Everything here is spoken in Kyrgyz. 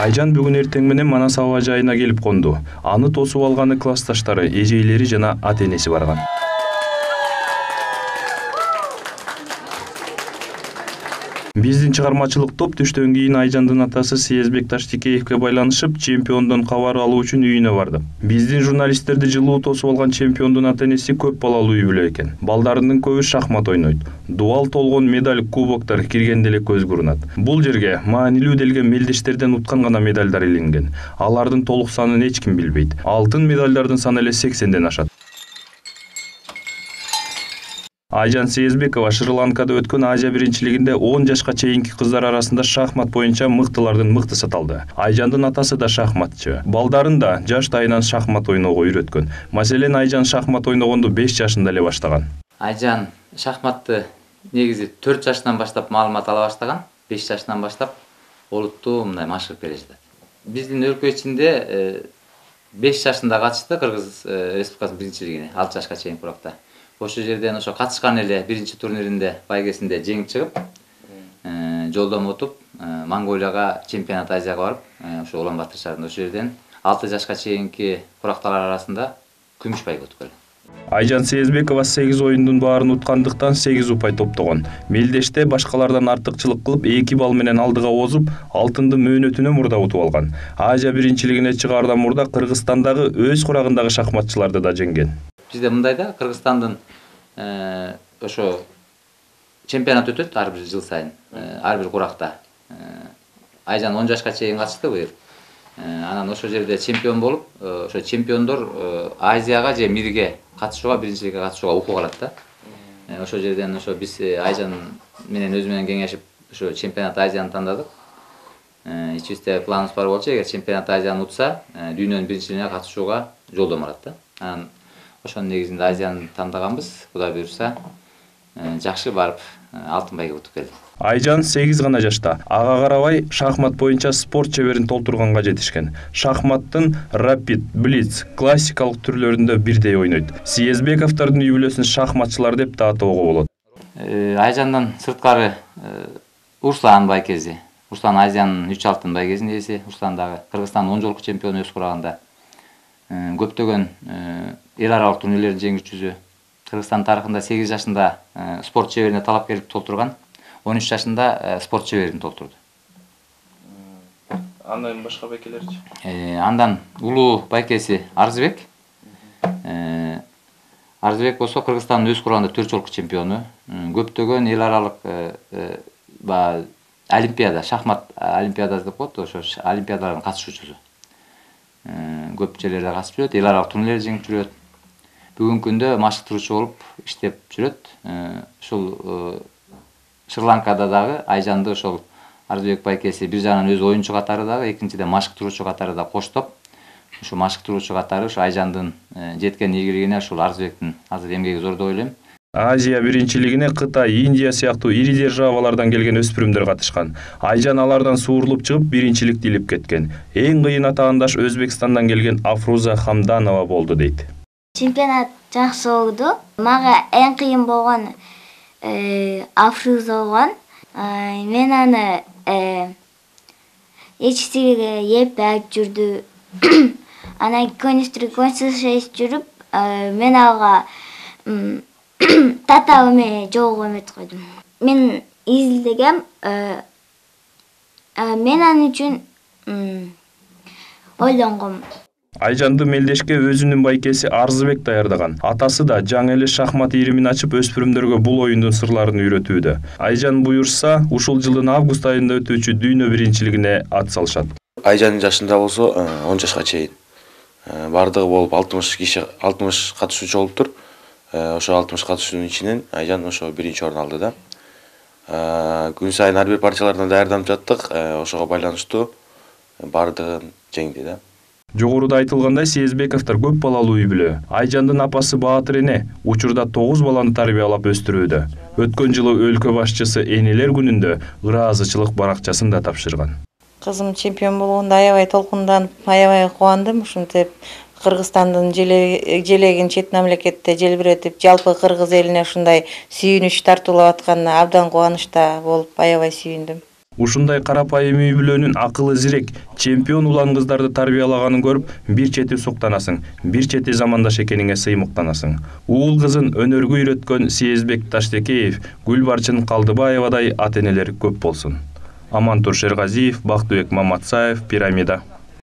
Айжан бүгүн эртең менен Манас аба жайына келип конду. Аны тосуп алганы классташтары, эжейлери жана ата-энеси барган. Биздин чыгармачылык топ түштөн кийин Айжандын атасы Сиязбек Таштикеевге байланышып, чемпиондон кабар алуу үчүн үйүнө барды. Биздин журналисттерди жылуу тосуп алган чемпиондун ата-энеси көп балалуу үй бүлө экен. Балдарынын көбү шахмат ойнойт. Дуал толгон медаль, кубоктор киргенде эле көзгө урунат. Бул жерге маанилүү делген мелдештерден уткан гана медальдар иленген. Алардын толук санын эч ким билбейт. Алтын медальдардын саны эле 80ден ашат. Айжан Сиязбекова Шри-Ланкада өткөн Азия биринчилигинде 10 жашка чейинки кыздар арасында шахмат боюнча мыктылардын мыктысы аталды. Айжандын атасы да шахматчы. Балдарын да жаштайынан шахмат ойноого үйрөткөн. Маселен, Айжан шахмат ойногонду 5 жашында эле баштаган. Айжан шахматты негизи 4 жашынан баштап маалымат ала баштаган. 5 жашынан баштап олуттуу мындай машыгып келе жатат. Биздин өлкө ичинде 5 жашында катышты Кыргыз Республикасынын биринчилигине, 6 жашка чейин куракта. Ошол жерден ошо катышкан эле биринчи турниринде байгесинде жеңип чыгып, жолдон утуп, Монголияга чемпионат Азияга барып, ошо Улан-Батыр шаарында ошол жерден 6 жашка чейинки куракталар арасында күмүш байге утуп келди. Айжан Сиязбекова 8 оюндун баарын уткандыктан 8 упай топтогон. Мелдеште башкалардан артыкчылык кылып 2 балл менен алдыга озуп, алтынды мөөнөтүнө мурда утуп алган. Азия биринчилигине чыгаардан мурда Кыргызстандагы өз курагындагы шахматчыларды да жеңген. Бизде мындай да Кыргызстандын ошо чемпионат өтөт ар бир жыл сайын, ар бир куракта. Айжан 10 жашка чейин катышты быйыл. Анан ошол жерде чемпион болуп, ошо чемпиондор Азияга же Мирге катышууга, биринчиликке катышууга укук алат да. Ошол жерден ошо биз Айжан менен өзү менен кеңешип, ошо чемпионат Азияны тандадык. Ичибизде планыбыз бар болчу, эгер чемпионат Азияны утса, дүйнөнүн биринчилигине катышууга жолдомо алат да. Анан ошонун негизинде Азияны тандаганбыз. Кудай буйрса, жакшы барып алтын байге утуп келди. Айжан 8 гана жашта. Ага карабай шахмат боюнча спорт чеберин толтурганга жетишкен. Шахматтын рапид, блиц, классикалык түрлөрүндө бирдей ойнойт. Сиязбековдордун үй бүлөсүн шахматчылар деп да атоого болот. Айжандан сырткары Руслан байкези. Руслан Азиянын 3 алтын байгесинин ээси. Руслан дагы Кыргызстандын 10 жолку чемпиону өз курагында. Көптөгөн эл аралык турнирлердин жеңүүчүсү. Кыргызстан тарыхында 8 жашында спорт чеберине талапкерлик толтурган. 13 жашында спорт чеберин толтурду. Андан башка байкелерчи? Андан улуу байкеси Арзыбек. Арзыбек болсо Кыргызстандын өз курагында 4 жолку чемпиону. Көптөгөн эл аралык олимпиада, шахмат олимпиадасы деп коет, ошо олимпиадалардын катышуучусу. Көп жерлерде катышып жүрөт, эл аралык турнирлерди жеңип жүрөт. Бүгүнкү күндө машыктыруучу болуп иштеп жүрөт. Ушул Шри-Ланкада дагы Айжанды ошол Арзыбек байкеси бир жагынан өз оюнчу катары дагы, экинчиден машыктыруучу катары да коштоп, ушу машыктыруучу катары ушу Айжандын жеткен ийгилигине ушул Арзыбектин азыр эмгеги зор деп ойлойм. Азия биринчилигине Кытай, Индия сыяктуу ири державалардан келген өспүрүмдөр катышкан. Айжан алардан суурулуп чыгып биринчиликти илип кеткен. Эң кыйын атаандаш Өзбекстандан келген Афруза Хамданова болду дейт. Чемпионат жакшы болду. Мага эң кыйын болгон Афруза болгон. Мен аны эчтириге еп алып жүрдү. Анан конструкция жүрүп, мен ага татабы менен жолго эметип койдум. Мен изилдегем, мен аны үчүн ойлонгом. Айжанды мелдешке өзүнүн байкеси Арзыбек даярдаган. Атасы да жаңы эле шахмат иримин ачып өспүрүмдөргө бул оюндун сырларын үйрөтүүдө. Айжан буйрса, ушул жылдын август айында өтүүчү дүйнө биринчилигине ат салышат. Айжанын жашында болсо 10 жашка чейин бардыгы болуп 60 катышуучу болуптур. Ошо 60 катышуучунун ичинен Айжан ошо биринчи орун алды да. Күн сайын ар бир партиялардан даярданып жаттык. Ошого байланыштуу бардыгын жеңди да. Жогоруда айтылгандай, Сиязбековдор көп балалуу үй бүлө. Айжандын апасы Баатыр эне учурда 9 баланы тарбиялап өстүрүүдө. Өткөн жылы өлкө башчысы Энелер күнүндө ыраазычылык баракчасын да тапшырган. Кызым чемпион болгондо аябай толкунданып, аябай кубандым. Ушинтип Кыргызстандын желегин чет мамлекетте желбиретип, жалпы кыргыз элине ушундай сүйүнүч тартуулап атканына абдан кубанычта болуп, аябай сүйүндүм. Ушундай карапайым үй бүлөнүн акылы зирек, чемпион улан кыздарды тарбиялаганын көрүп, бир чети суктанасың, бир чети замандаш экениңе сыймыктанасың. Уул кызын өнөргө үйрөткөн Сезбек Таштекеев, Гүлбарчын Калдыбаевадай ата-энелер көп болсун. Амантур Шергазиев, Бактыбек Маматсаев, Пирамида.